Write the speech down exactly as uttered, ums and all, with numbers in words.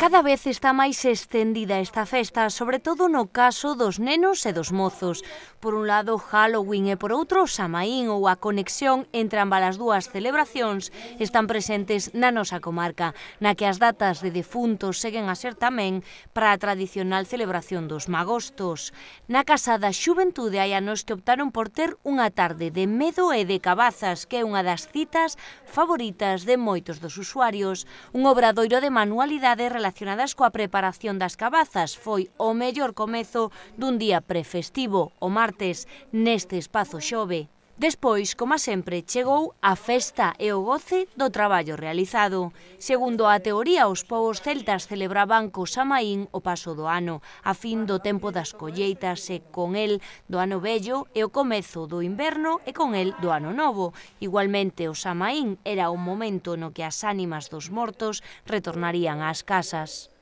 Cada vez está máis estendida esta festa, sobre todo no caso dos nenos e dos mozos. Por un lado, Halloween e por outro, Samaín ou a conexión entre ambas as dúas celebracións están presentes na nosa comarca, na que as datas de defuntos seguen a ser tamén para a tradicional celebración dos magostos. Na Casa da Xuventude hai anos que optaron por ter unha tarde de medo e de cabazas, que é unha das citas favoritas de moitos dos usuarios. Un obradoiro de manualidade relacionadas coa preparación das cabazas foi o mellor comezo dun día prefestivo, o martes, neste espazo Xove. Despois, como sempre, chegou a festa e o goce do traballo realizado. Segundo a teoría, os povos celtas celebraban co Samaín o paso do ano, a fin do tempo das colleitas e con el do ano vello e o comezo do inverno e con el do ano novo. Igualmente, o Samaín era o momento no que as ánimas dos mortos retornarían ás casas.